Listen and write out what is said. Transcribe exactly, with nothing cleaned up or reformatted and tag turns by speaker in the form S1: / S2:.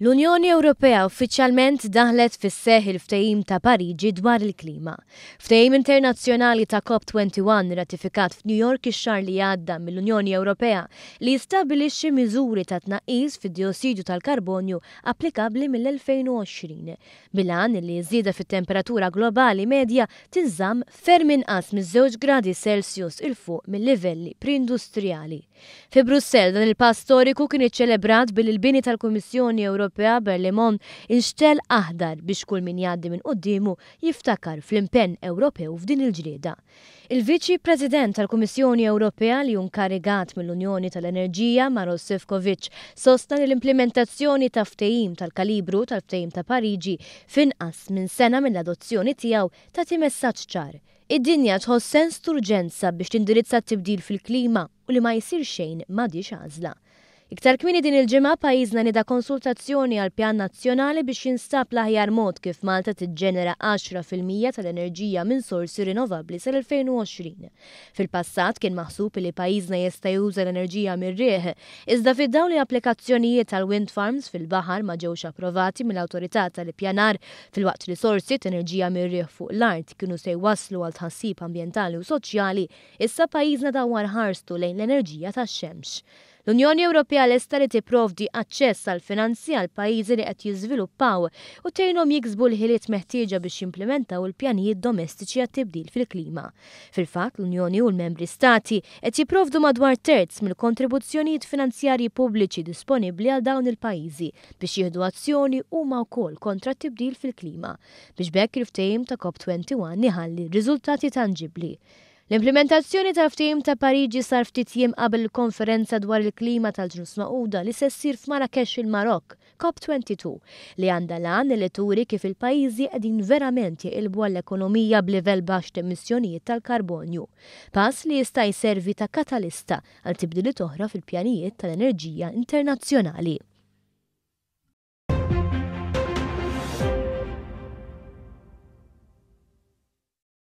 S1: L-Unjoni Ewropea uffiċjalment daħlet fis-seħ il-Ftehim ta' Pariġi dwar il-klima. Ftehim internazzjonali ta' COP wieħed u għoxrin ratifikat f'New York ix-xahar li għadda mill-Unjoni Ewropea li jistabbilixxi miżuri ta' tnaqqis fid-diossidu tal-karbonju applikabbli mill-elfejn u għoxrin. Bil-għan li żieda fit-temperatura globali medja tinżamm ferm inqas miż-żewġ gradi Celsius 'il fuq mill-livelli pre-industrijali. Fi Brussell, dan il-pass storiku kien iċċelebrat billi l-bini tal-Kummissjoni Ewropea Berlaymont inxtegħel aħdar biex kull min jgħaddi minn quddiemu jiftakar fl-impenn Ewropew f'din il-ġlieda. Il-Viċi President tal-Kummissjoni Ewropea li hu inkarigat mill-Unjoni tal-Enerġija, Maros Sefcovic, sostna li l-implementazzjoni ta' ftehim tal-kalibru tal-Ftehim ta' Pariġi f'inqas minn sena mill-adozzjoni tiegħu tagħti messaġġ ċar. Id-dinja tħoss sens t'urġenza biex tindirizza t-tibdil fil-klima u li ma jsir xejn m'għadhiex għażla. Iktar kmieni din il-ġimgħa, pajjiżna nieda konsultazzjoni għal pjan nazzjonali biex jinstab l-aħjar mod kif Malta tiġġenera għaxra fil-mija tal-enerġija minn sorsi rinnovabbli sal-elfejn u għoxrin. Fil-passat kien maħsub li pajjiżna jista' juża l-enerġija mir-riħ, iżda fid-dawl li applikazzjonijiet tal-wind farms fil-baħar ma ġewx approvati mill-awtorità tal-ippjanar, filwaqt li sorsi ta' enerġija mir-riħ fuq l-art kienu se jwasslu għal tħassib ambjentali u soċjali, issa pajjiżna dawwar ħarstu lejn l-enerġija tax-xemx. L-Unjoni Ewropea lesta li tipprovdi aċċess għal finanzi għal pajjiżi li qed jiżviluppaw u tgħinhom jiksbu l-ħiliet meħtieġa biex jimplementaw il-pjanijiet domestiċi għat-tibdil fil-klima. Fil-fatt, l-Unjoni u l-membri stati qed jipprovdu madwar terz mill-kontribuzzjonijiet finanzjarji pubbliċi disponibbli għal dawn il-pajjiżi biex jieħdu azzjoni huma wkoll kontra t-tibdil fil-klima, biex b'hekk il-ftehim ta' COP wieħed u għoxrin iħalli riżultati tanġibbli. L-implementazzjoni tal-Ftehim ta' Pariġi sar ftit jiem qabel il-konferenza dwar il-klima tal-Ġnus Magħquda li se ssir f'Marrakesh, il-Marok, COP tnejn u għoxrin, li għandha l-għan li turi kif il-pajjiżi qegħdin verament jeqilbu għall-ekonomija b'livell baxx emissjonijiet tal-karbonju. Pass li jista' jservi ta' katalista għal tibdiliet oħra fil-pjanijiet tal-enerġija internazzjonali.